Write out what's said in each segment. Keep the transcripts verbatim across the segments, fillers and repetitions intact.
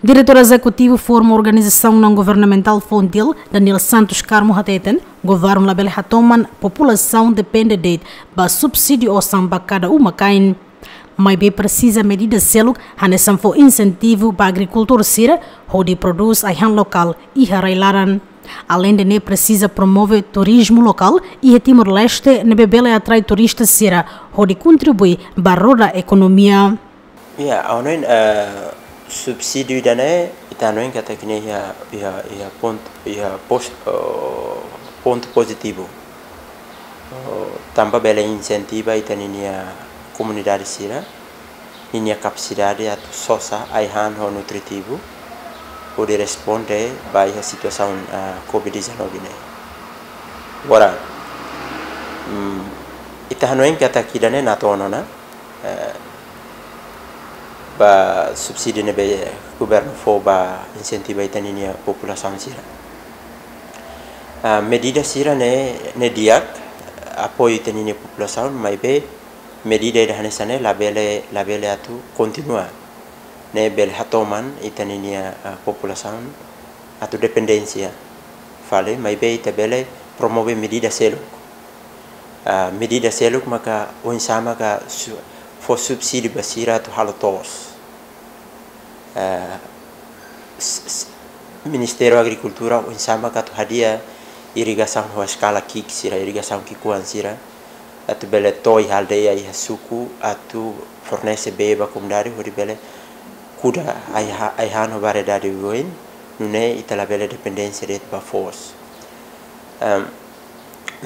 Diretór Ezekutivu Forma Organizasaun Naun Governamentál Fontil, Daniel Santos Carmo hateten, governu labele hatoman populasaun depende de'it ba subsídiu osan ba kada uma-kain. Maibé presiza medida seluk hanesan fó insentivu ba agrikultór sira hodi prodús ai-han lokál iha rai-laran. Aleinde ne'e presiza promove turizmu lokál iha Timor-Leste ne'ebé bele atrai turista sira hodi kontribui ba roda ekonomia. Ya, ha'u hanoin, eh, subsídiu ida-ne'e, ita hanoin katak ne'e iha, iha, iha pontu, iha pos-, eh, pontu pozitivu. Oh, tanba bele insentiva ita-ninia komunidade sira, ninia kapasidade atu sosa ai-han ho nutritivu, hodi responde ba iha situasaun, ah, covid dezanove ne'e. Agora, mm, ita hanoin katak ida-ne'e natoon ona, eh, ba subsídiu ne'ebé governu fó ba insentiva ita-ninia populasaun sira. Ah, medida sira-ne'e, ne'e di'ak, apoiu ita-ninia populasaun, maibé medida ida hanesan ne'e labele, labele atu kontinua. Ne'e bele hatoman ita-ninia, ah, populasaun atu dependénsia fali, maibé ita bele promove medida seluk. Ah, medida seluk maka oinsá maka su-, fó subsídiu ba sira atu halo to'os. Ah, s-, s-, Ministériu Agrikultura oinsá maka atu hadi'a irrigasaun ho eskala ki'ik sira, irrigasaun ki'ikoan sira, atu bele to'o iha aldeia, iha suku, atu fornese bee ba komunidade, hodi bele kuda ai-ha-, ai-han ho variedade oioin, nune'e ita labele dependénsia de'it ba foos. Em,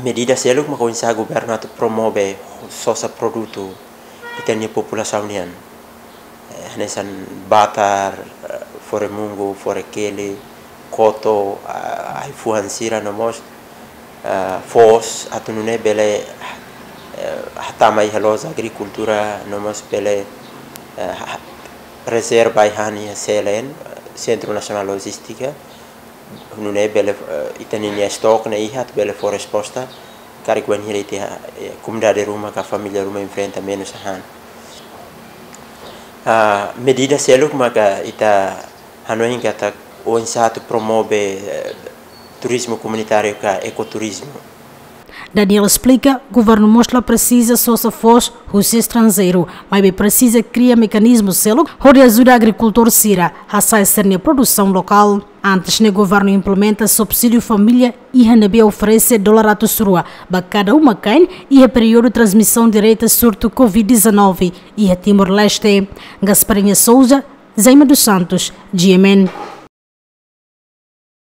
medida seluk maka oinsá governu atu promove sosa produtu ita-nia populasaun nian. Eh, hanesan batar, eh, fore-mungu, fore-keli, koto, ah, ai-fuan sira no mós, ah, foos atu nune'e bele, eh, hatama iha loja agrikultura no mós bele, eh, ha-, rezerva ai-han iha C L N, Centro Nacional Logística, nune'e bele, eh, ita-ninia estoke ne'e iha atu bele fó resposta karik bainhira ita, eh, komunidade ruma ka família ruma enfrenta menus ai-han. Ah, medida seluk maka ita hanoin katak oinsá atu promove, eh, turizmu komunitáriu ka ekoturizmu. Daniel esplika, governu mós la presiza sosa foos husi estranjeiru, maibé presiza kria mekanizmu seluk hodi ajuda agrikultór sira hasa'e sira-nia produsaun lokál. Antes ne'e governu implementa subsídiu família iha ne'ebé oferese dolar atus rua ba kada uma-kain iha períodu transmisaun direta surtu covid dezanove iha Timor-Leste. Gasparinha Souza, Jaime dos Santos, G M N.